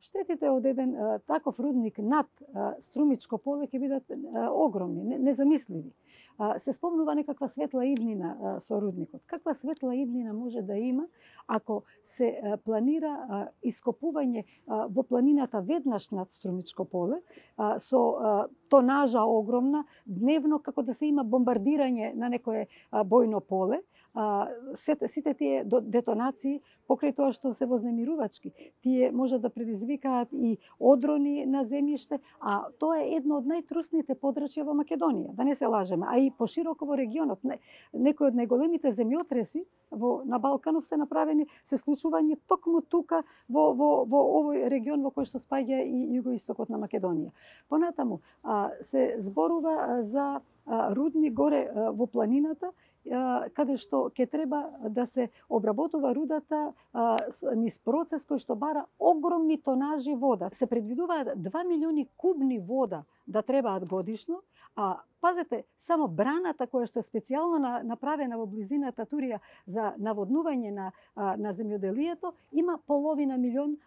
штетите од еден таков рудник над Струмичко поле ќе бидат огромни, незамисливи. Се спомнува некаква светла иднина со рудникот. Каква светла иднина може да има ако се планира ископување во планината веднаш над Струмичко поле со тонажа огромна, дневно како да се има бомбардирање на некое бојно поле, сите тие детонации покрај тоа што се вознемирувачки, тие може да предизвикаат и одрони на земјиште, а тоа е едно од најтрусните подрачја во Македонија, да не се лажеме, а и пошироко во регионот. Некои од најголемите земјотреси на Балканов се направени, се случување токму тука во овој регион во кој што спаѓа и југоистокот на Македонија. Понатаму се зборува за рудник горе во планината, каде што ќе треба да се обработува рудата низ процес кој што бара огромни тонажи вода. Се предвидуваат 2 милиони кубни вода да требаат годишно, а пазете, само браната која што е специјално направена во близината Турија за наводнување на земјоделието има половина милион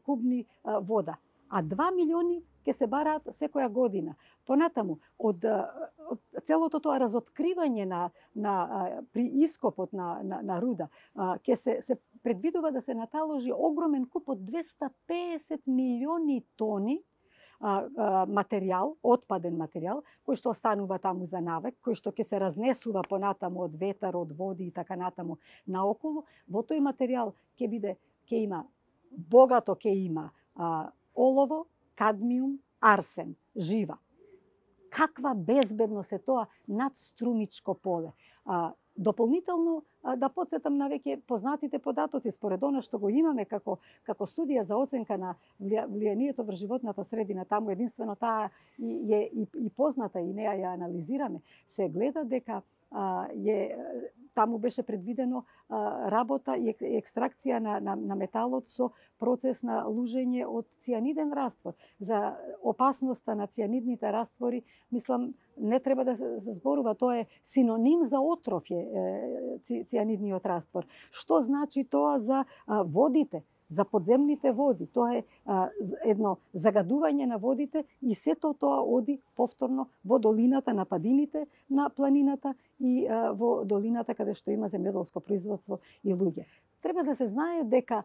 кубни вода, а 2 милиони ќе се бараат секоја година. Понатаму, од целото тоа разоткривање при ископот на руда, ќе се предвидува да се наталожи огромен куп од 250 милиони тони материјал, отпаден материјал, кој што останува таму за навек, кој што ќе се разнесува понатаму од ветар, од води и така натаму наоколу. Во тој материјал ќе има богато олово, кадмиум, арсен, жива. Каква безбедност е тоа над Струмичко поле? Дополнително да подсетам на веќе познатите податоци според она што го имаме како студија за оценка на влијанието врз животната средина, таму единствено таа е и позната и неа ја анализираме, се гледа дека таму беше предвидено работа и екстракција на металот со процес на лужење од цијаниден раствор. За опасноста на цијанидните раствори, мислам, не треба да се зборува, тоа е синоним за отров цијанидниот раствор. Што значи тоа за водите? За подземните води. Тоа е едно загадување на водите и сето тоа оди повторно во долината на падините на планината и во долината каде што има земјоделско производство и луѓе. Треба да се знае дека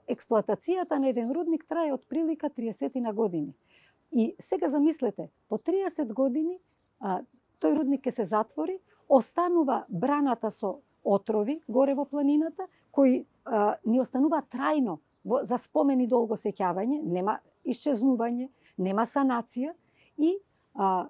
експлоатацијата на еден рудник трае од прилика 30 години. И сега замислете, по 30 години тој рудник ќе се затвори, останува браната со отрови горе во планината, кои ни останува трајно за спомен и долго сеќавање, нема исчезнување, нема санација и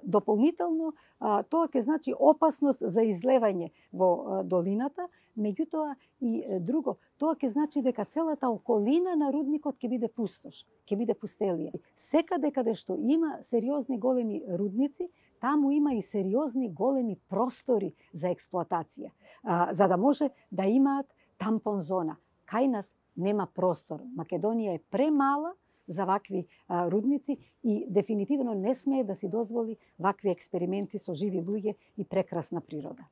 дополнително тоа ќе значи опасност за излевање во долината, меѓутоа и друго, тоа ќе значи дека целата околина на рудникот ќе биде пустош, ќе биде пустелија. Секаде каде што има сериозни големи рудници, таму има и сериозни големи простори за експлоатација, за да може да имаат тампон зона. Кај нас нема простор. Македонија е премала за вакви рудници и дефинитивно не смее да си дозволи вакви експерименти со живи луѓе и прекрасна природа.